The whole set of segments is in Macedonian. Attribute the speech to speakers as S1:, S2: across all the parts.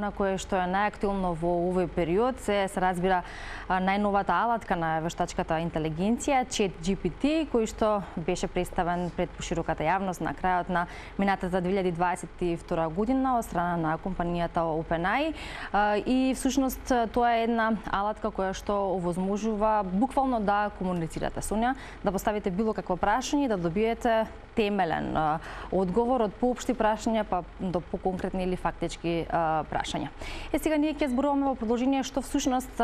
S1: она кое што е најактуелно во овој период се разбира најновата алатка на вештачката интелигенција ChatGPT, кој што беше представен пред пошироката јавност на крајот на минатата 2022 година од страна на компанијата OpenAI и всушност тоа е една алатка која што овозможува буквално да комуницирате со неа, да поставите било какво прашање и да добиете темелен одговор од поопшти прашања па до поконкретни или фактички прашања. Сега ние ќе зборуваме во продолжение што всушност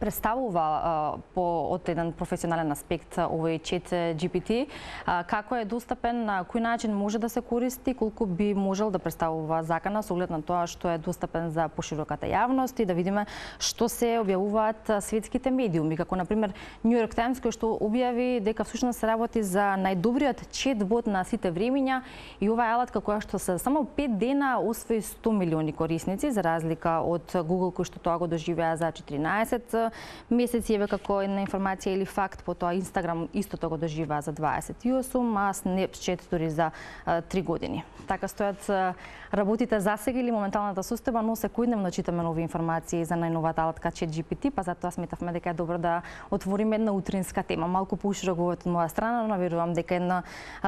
S1: представува од еден професионален аспект овој ChatGPT, како е достапен, на кој начин може да се користи, колку би можел да представува закана со оглед на тоа што е достапен за пошироката јавност и да видиме што се објавуваат светските медиуми, како на пример New York Times кој што објави дека всушност се работи за најдобриот чатбот на сите времиња и оваа алатка која што се само 5 дена освои 100 милиони корисници за разлика од Google кој што тоа го доживеа за 14 месеци, еве како една информација или факт, потоа Instagram истото го доживеа за 28, а Snapchat дури за 3 години. Така стојат работите засега или моменталната состојба, но секојдневно читаме нови информации за најновата алатка ChatGPT, па затоа сметавме дека е добро да отвориме една утринска тема. Малку поуширок од моја страна, но верувам дека е една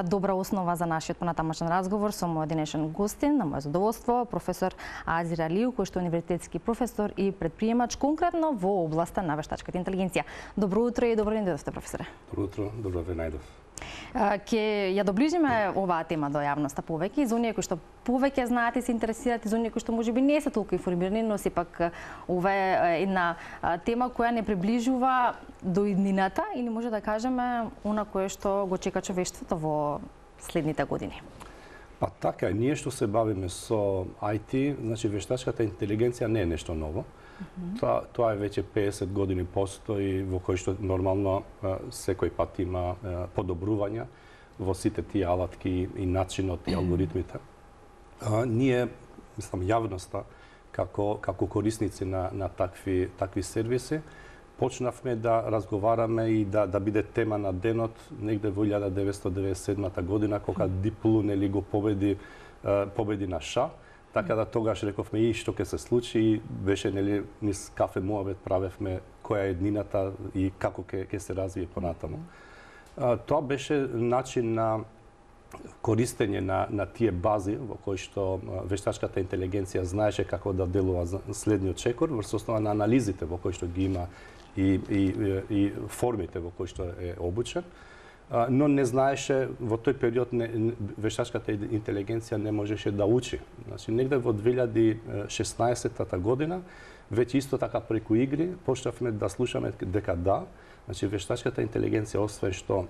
S1: добра основа за нашиот понатамошен разговор со мојот денешен гостин, на моје задоволство, професор Азир Алиев, кој што е универзитетски професор и предприемач конкретно во областа на вештачката интелигенција. Добро утро и добро ден дојдовте, професоре.
S2: Добро утро, добро ве најдов.
S1: Ќе ја доближиме оваа тема до јавноста повеќе, за оние кои што повеќе знаат и се интересираат, и за оние кои што можеби не се толку информирани, но сепак ова е една тема која не приближува до иднината или може да кажеме она кое што го чека човештвото во следните години.
S2: Па така, ние што се бавиме со IT, значи вештачката интелигенција не е нешто ново. Тоа е веќе 50 години постои, во кој што нормално секој пат има подобрувања во сите тие алатки и начинот и алгоритмите. Ние, мислам, јавноста како корисници на такви сервиси, почнавме да разговараме и да биде тема на денот негде во 1997 година, кога Deep Blue нели го победи на ша. Така да тогаш рековме и што ќе се случи и беше нели низ кафе муабет правевме која е еднината и како ќе се развие понатаму. Тоа беше начин на користење на тие бази во кои што вештачката интелигенција знаеше како да делува следниот чекор врз основа на анализите во кои што ги има и формите во кои што е обучен. Но не знаеше, во тој период вештачката интелигенција не можеше да учи. Значи, негде во 2016 година, веќе исто така преку игри, почнавме да слушаме дека да, значи вештачката интелигенција освен што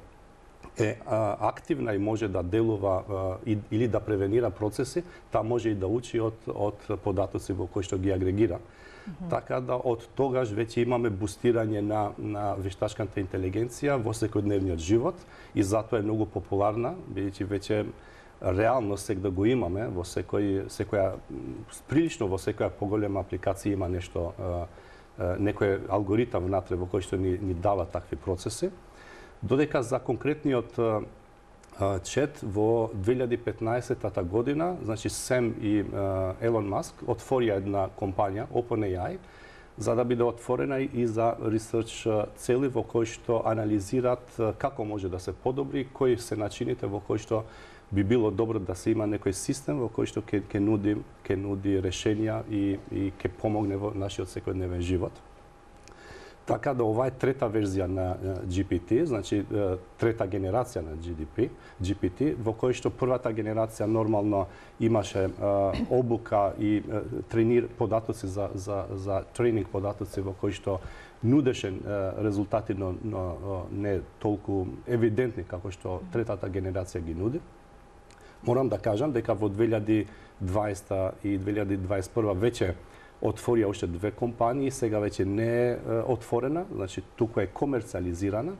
S2: е активна и може да делува или да превенира процеси, таа може и да учи од податоци во кои што ги агрегира. Така да од тогаш веќе имаме бустирање на вештачката интелигенција во секојдневниот живот и затоа е многу популарна, бидејќи веќе реално сега го имаме во прилично во секоја поголема апликација има нешто, некој алгоритам внатре во кој што ни дава такви процеси. Додека за конкретниот чет во 2015 година, значи Сем и Елон Маск отворија една компанија, OpenAI, за да биде отворена и за ресерч цели во кои што анализираат како може да се подобри, кои се начините во кои што би било добро да се има некој систем во кој што ќе нуди решенја и ќе помогне во нашиот секојдневен живот. Така да ова е трета верзија на GPT, значи трета генерација на GPT, во кој што првата генерација нормално имаше обука и податоци за тренинг податоци во кој што нудеше резултати, но не толку евидентни како што третата генерација ги нуди. Морам да кажам дека во 2020 и 2021 веќе отворија уште две компании, сега веќе не е отворена, значи туку е комерцијализирана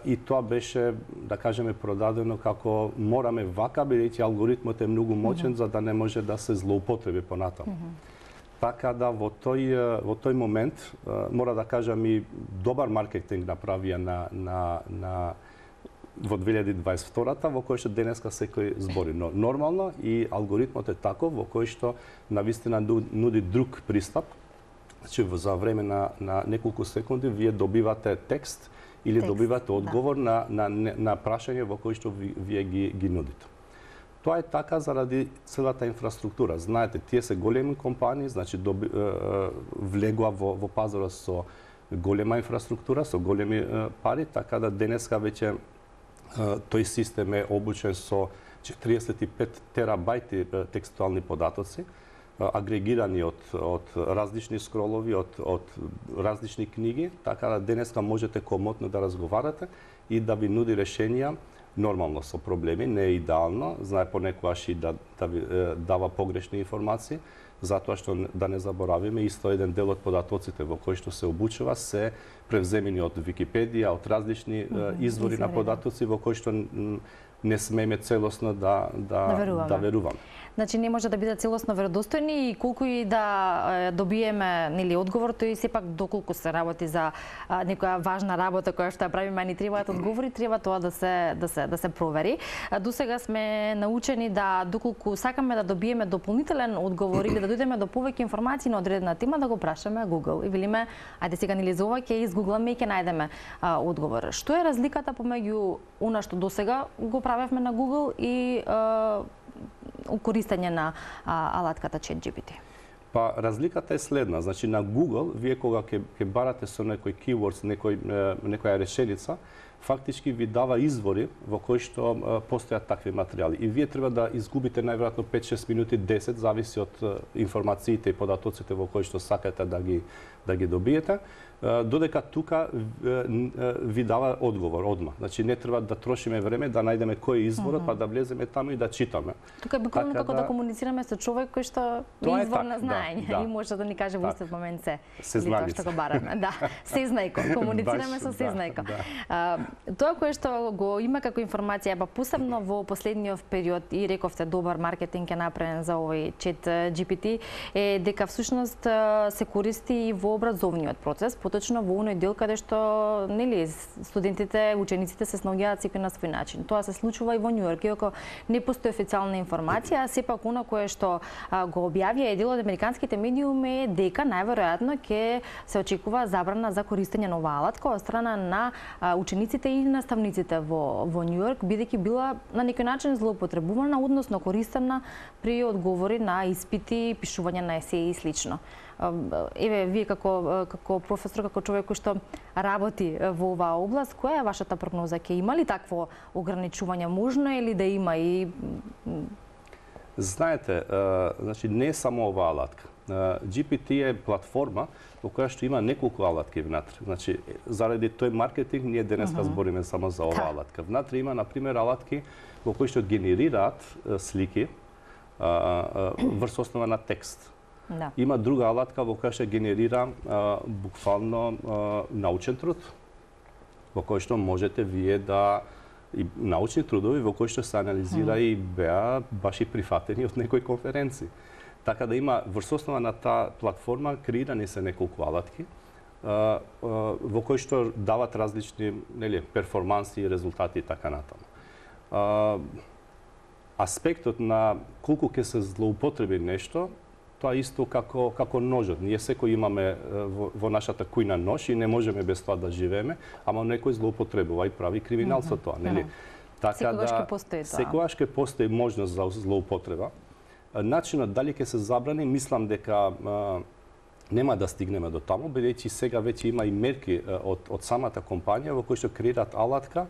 S2: и тоа беше, да кажеме, продадено како мораме вака, бидејќи алгоритмот е многу моćен за да не може да се злоупотреби понатаму. Така да во тој момент мора да кажам и добар маркетинг направија на во 2022-та во кој што денеска секој збори. Но нормално и алгоритмот е таков во кој што навистина нуди друг пристап. Значи за време на неколку секунди вие добивате текст или добивате одговор на прашање во кој што вие ги нудите. Тоа е така заради целата инфраструктура. Знаете, тие се големи компании, значи влегува во пазарот со голема инфраструктура, со големи пари, така да денеска веќе тој систем е обучен со 45 терабајти текстуални податоци, агрегирани од различни скролови, од различни книги, така да денеска можете комотно да разговарате и да ви нуди решенија, нормално со проблеми, не е идеално, знае понекогаш и да ви дава погрешни информации, затоа што да не заборавиме, исто еден дел од податоците во кои што се обучува се превземени од Википедија, од различни извори на податоци во кои што не смееме целосно да веруваме.
S1: Значи не може да бидат целосно веродостојни и колку и да добиеме нели одговор, тој сепак доколку се работи за некоја важна работа која што ја правиме, ни требаат одговори, треба тоа да се провери. Досега сме научени да доколку сакаме да добиеме дополнителен одговор или да дојдеме до повеќе информации на одредена тема, да го прашаме Google и велиме ајде сега нели за ова ќе изгугламе и ќе најдеме одговор. Што е разликата помеѓу она што досега го правевме на Google и користење на алатката ChatGPT?
S2: Па разликата е следна, значи на Google вие кога ќе барате со некој keywords, некоја решеница, фактички ви дава извори во кои што постојат такви материјали и вие треба да изгубите најверојатно 5-6 минути, 10, зависи од информациите и податоците во кои што сакате да ги добиете, додека тука ви дава одговор одма. Значи не треба да трошиме време да најдеме кој е изворот, па да влеземе таму и да читаме.
S1: Тука е буквално како да комуницираме со човек кој што е извор на знаење и може да ни каже во истиот момент се тоа што го бараме. Да, сезнајко, комуницираме со сезнајко. Тоа кое што го има како информација, па посебно во последниот период и рековте добар маркетинг е направен за овој ChatGPT, е дека всушност се користи и во образовниот процес, поточно во оној дел каде што нели студентите, учениците се снаоѓаат секој на свој начин. Тоа се случува и во Њу Йорк, иако не постои официјална информација, сепак она кое што го објавија дел од американските медиуми е дека најверојатно ќе се очекува забрана за користење на оваа алатка од страна на учениците и наставниците во Њу Йорк, бидејќи била на некој начин злоупотребувана, односно користена при одговори на испити, пишување на есеи и слично. Еве, вие како професор, како човек кој што работи во оваа област, која е вашата прогноза? Ќе има ли такво ограничување? Можно е ли да има и...
S2: Знаете, значи не е само оваа алатка. GPT е платформа во која што има неколку алатки внатре. Значи, заради тој маркетинг, ние денеска збориме само за оваа алатка. Внатре има, например, алатки во кои што генерираат слики врз основа на текст.
S1: Да.
S2: Има друга алатка во која што генерира буквално научен труд, во кој што можете вие да и научни трудови во кои што се анализира и беа баш и прифатени од некои конференции. Така да има врз основа на таа платформа креирани се неколку алатки во кои што дават различни перформанси и резултати и така натаму. Аспектот на колку ќе се злоупотреби нешто, тоа исто како ножот. Ние секој имаме во нашата кујна нож и не можеме без тоа да живееме, ама некој злоупотребува и прави криминал со тоа, нели?
S1: Така да
S2: секогаш ќе постои можност за злоупотреба. Начинот дали ќе се забрани, мислам дека нема да стигнеме до таму, бидејќи сега веќе има и мерки од самата компанија во кои што креираат алатка,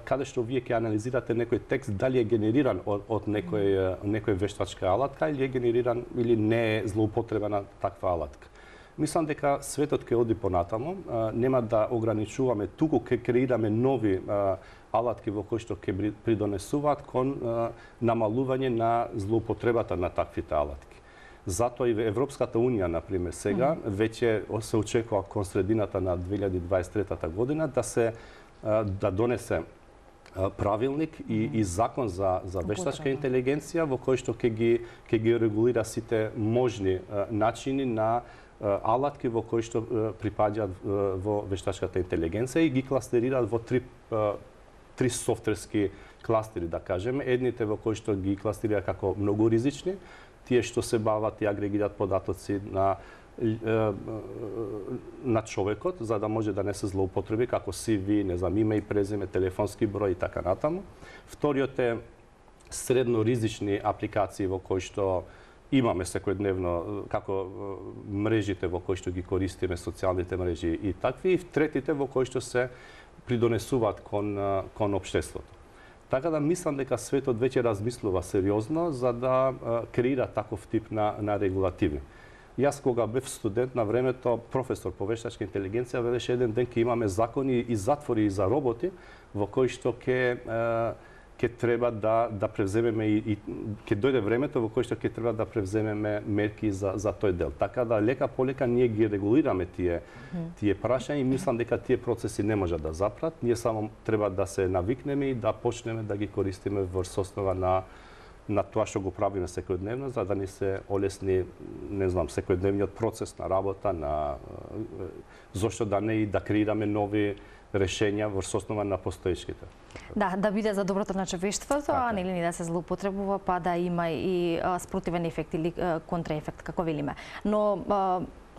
S2: каде што вие ќе анализирате некој текст дали е генериран од некој вештачка алатка или е генериран или не е злоупотребена таква алатка. Мислам дека светот ќе оди понатаму, нема да ограничуваме, туку ќе креираме нови алатки во кои што ќе придонесуваат кон намалување на злоупотребата на таквите алатки. Затоа и Европската унија, например, сега веќе се очекува кон средината на 2023 година да донесе правилник и закон за вештачка интелигенција во кој што ќе ги регулира сите можни начини на алатки во кои што припаѓаат во вештачката интелигенција и ги кластерираат во три три софтверски кластери, да кажеме. Едните во кои што ги кластерира како многу ризични, тие што се бават и агрегираат податоци на човекот, за да може да не се злоупотреби, како CV, не знам, име и презиме, телефонски број и така натаму. Вториот е средно ризични апликации во кои што имаме секојдневно, како мрежите во кои што ги користиме, социјалните мрежи и такви, и третите во кои што се придонесуваат кон општеството. Така да мислам дека светот веќе размислува сериозно за да креира таков тип на регулативи. Јас кога бев студент на времето, професор по вештачка интелигенција, велеше еден ден ќе имаме закони и затвори за роботи во кои што ќе треба да превземеме и ќе дојде времето во кое што ќе треба да превземеме мерки за тој дел. Така да лека полека ние ги регулираме тие прашања и мислам дека тие процеси не можат да запрат. Ние само треба да се навикнеме и да почнеме да ги користиме врз основа на тоа што го правиме секојдневно, за да ни се олесни, не знам, секојдневниот процес на работа, зошто да не и да креираме нови решенја врз основа на постоечките.
S1: Да биде за доброто на човештвото, а нели да се злоупотребува, па да има и спротивен ефект или контраефект, како велиме. Но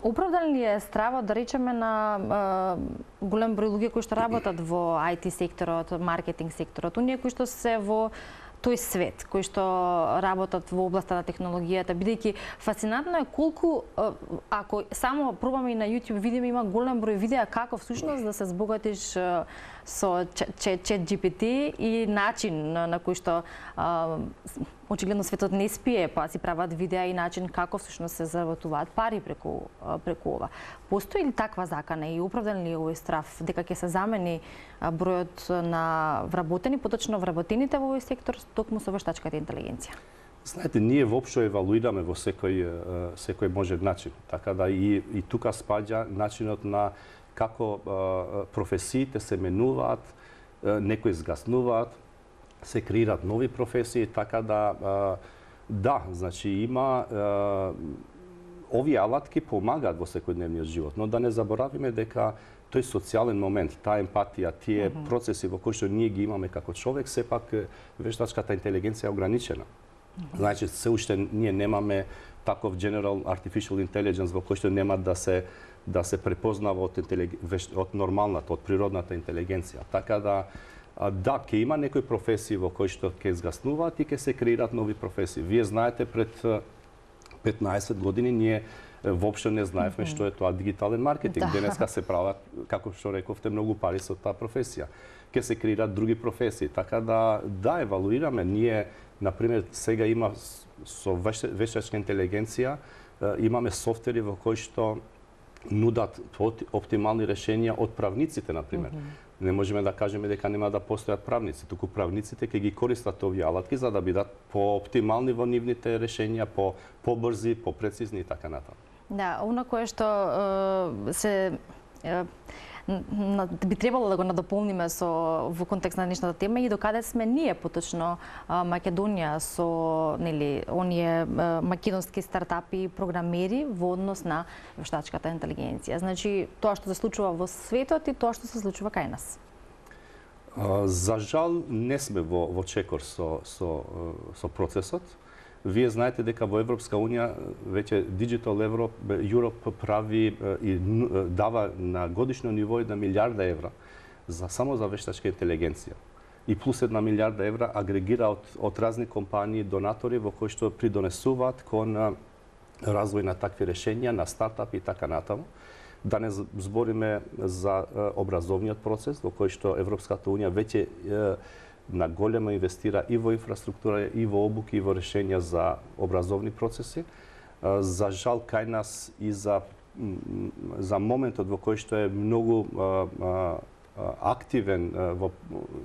S1: оправдан ли е стравот, да речеме, на голем број луѓе кои што работат во IT секторот, маркетинг секторот, оние кои што се во тој свет, кои што работат во областа на технологијата, бидејќи фасцинантно е колку, ако само пробаме и на YouTube видиме, има голем број видеа како всушност да се збогатиш со ChatGPT и начин на кој што очигледно светот не спие, па си прават видеа и начин како всушност се заработуваат пари преку ова. Постои ли таква закана и оправдан ли е овој страв дека ќе се замени бројот на вработени, поточно вработените во овој сектор токму со вештачката интелигенција?
S2: Знаете, ние воопшто евалуираме во секој можен начин. Така да и тука спаѓа начинот на како професиите се менуваат, некои згаснуваат, се креираат нови професии, така да, значи има овие алатки помагаат во секојдневниот живот, но да не заборавиме дека тој социјален момент, таа емпатија, тие процеси во кои што ние ги имаме како човек, сепак вештачката интелигенција е ограничена. Значи, се уште ние немаме таков general artificial intelligence во кој што нема да се препознава од нормалната, од природната интелигенција. Така да, ќе има некои професии во кои што ќе згаснуваат и ќе се креираат нови професии. Вие знаете, пред 15 години ние воопшто не знаевме што е тоа дигитален маркетинг. Денеска се прават, како што рековте, многу пари со таа професија. Ќе се креираат други професии. Така да евалуираме. Ние, например, сега има со вештачка интелигенција, имаме софтвери во кои што нудат оптимални решенија од правниците, например. Не можеме да кажеме дека нема да постојат правници, туку правниците ќе ги користат овие алатки за да бидат по-оптимални во нивните решенја, побрзи, попрецизни и така натаму.
S1: Да, она кое што би требало да го надополниме во контекст на днешната тема и докаде сме ние поточно Македонија со оние македонски стартапи и програмери во однос на вештачката интелигенција. Значи, тоа што се случува во светот и тоа што се случува кај нас.
S2: За жал не сме во чекор со процесот. Вие знаете дека во Европска Унија веќе Digital Europe прави и дава на годишно ниво 1 милиарда евра само за вештачка интелигенција. И плюс 1 милиарда евра агрегира од разни компании, донатори во кои што придонесуваат кон развој на такви решенја, на стартапи и така натаму. Да не збориме за образовниот процес во кој што Европската Унија веќе на големо инвестира и во инфраструктура, и во обуки, и во решенја за образовни процеси. За жал, кај нас и за моментот во кој што е многу активен,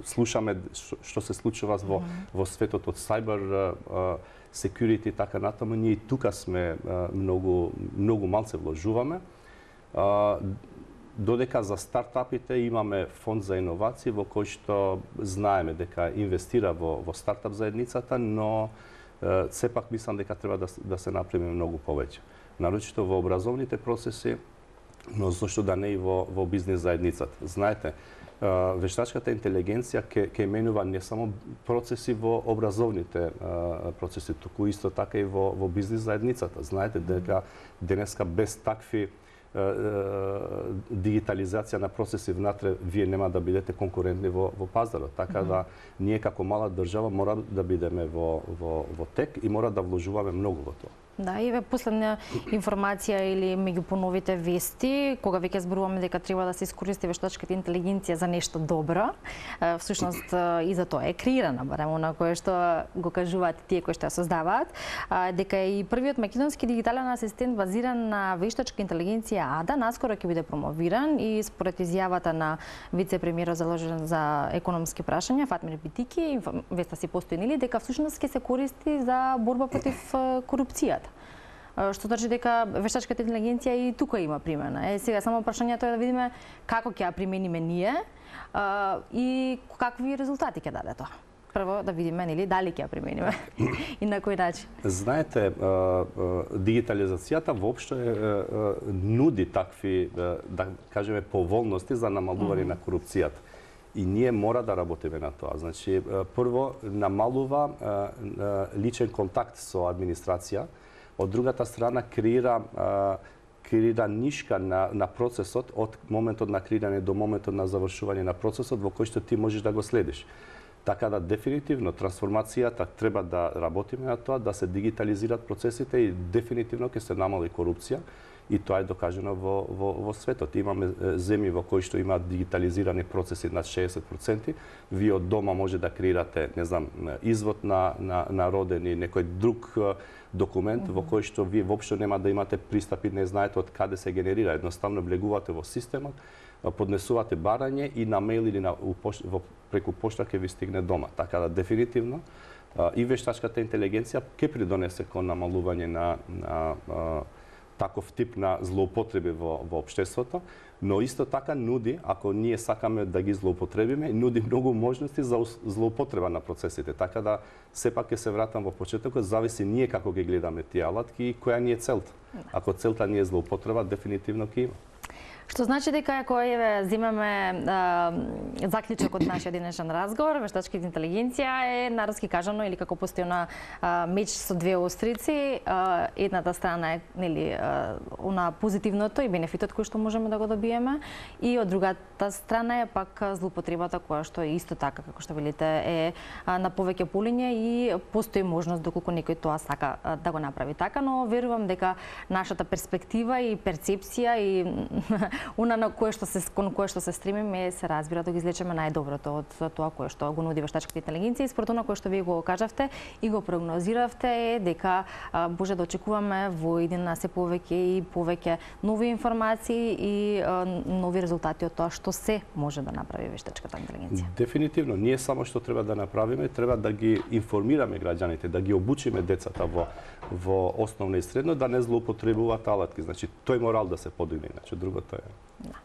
S2: слушаме што се случува во светот од cyber security и така натаму, ние тука сме многу малце вложуваме. Додека за стартапите имаме фонд за иновации во кој што знаеме дека инвестира во стартап заедницата, но сепак мислам дека треба да се направи многу повеќе. Нарочито во образовните процеси, но зошто да не и во бизнес заедницата. Знаете, вештачката интелигенција ќе менува не само процеси во образовните процеси, туку исто така и во бизнис заедницата. Знаете дека денеска без такви дигитализација на процеси внатре, вие нема да бидете конкурентни во пазарот. Така да ние како мала држава мора да бидеме во тек и мора да вложуваме многу во тоа.
S1: Да, и последна информација или меѓу поновите вести, кога веќе зборуваме дека треба да се искористи вештачката интелигенција за нешто добро, всушност и за тоа е креирана, барем она кое што го кажуваат тие кои што ја создаваат, дека и првиот македонски дигитален асистент базиран на вештачка интелигенција АДА наскоро ќе биде промовиран и според изјавата на вице-премиерот заложен за економски прашања Фатмир Битики, веста си постои нели дека всушност ќе се користи за борба против корупцијата. Што значи дека вештачката интелигенција и тука има примена. Сега само прашањето е да видиме како ќе ја примениме ние и какви резултати ќе даде тоа. Прво да видиме нели дали ќе ја примениме и на кој начин.
S2: Знаете, дигитализацијата воопшто нуди такви, да кажеме, поволности за намалување на корупцијата. И ние мора да работиме на тоа. Значи, прво намалува личен контакт со администрација, од другата страна креира нишка на процесот од моментот на креирање до моментот на завршување на процесот во кој што ти можеш да го следиш. Така да дефинитивно трансформацијата треба да работиме на тоа, да се дигитализираат процесите и дефинитивно ќе се намали корупција. И тоа е докажано во светот. Имаме земји во кои што имаат дигитализирани процеси над 60%. Вие од дома може да креирате, не знам, извод на роден и некој друг документ во кој што вие воопшто нема да имате пристап и не знаете од каде се генерира. Едноставно влегувате во системот, поднесувате барање и на мејл или преку пошта ќе ви стигне дома. Така да дефинитивно и вештачката интелигенција ќе придонесе кон намалување на таков тип на злоупотреби во општеството, но исто така нуди, ако ние сакаме да ги злоупотребиме, нуди многу можности за злоупотреба на процесите. Така да сепак ќе се вратам во почетокот, зависи ние како ги гледаме тие алатки и која ни е целта. Ако целта ни е злоупотреба, дефинитивно ќе има.
S1: Што значи дека ако земеме заклучок од нашиот денешен разговор, вештачката интелигенција е народски кажано или како постојана меч со две острици, едната страна е нели она позитивното и бенефитот кој што можеме да го добиеме и од другата страна е пак злоупотребата која што исто така како што велите е на повеќе полиња и постои можност доколку некој тоа сака да го направи така, но верувам дека нашата перспектива и перцепција и она на кое што се стремиме се разбира да ги извлечеме најдоброто од тоа кое што го нуди вештачката интелигенција и според она кое што вие го кажавте и го прогнозиравте е дека може да очекуваме во иднина се повеќе и повеќе нови информации и нови резултати од тоа што се може да направи вештачката интелигенција.
S2: Дефинитивно, ние само што треба да направиме, треба да ги информираме граѓаните, да ги обучиме децата во основно и средно да не злоупотребуваат алатки. Значи тој морал да се подигне, иначе другото е.
S1: Да.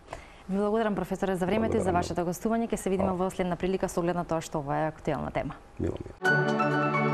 S1: Ви благодарам, професоре, за времето и за вашето гостување. Ќе се видиме во следна прилика со оглед на тоа што ова е актуелна тема.
S2: Мило ми е.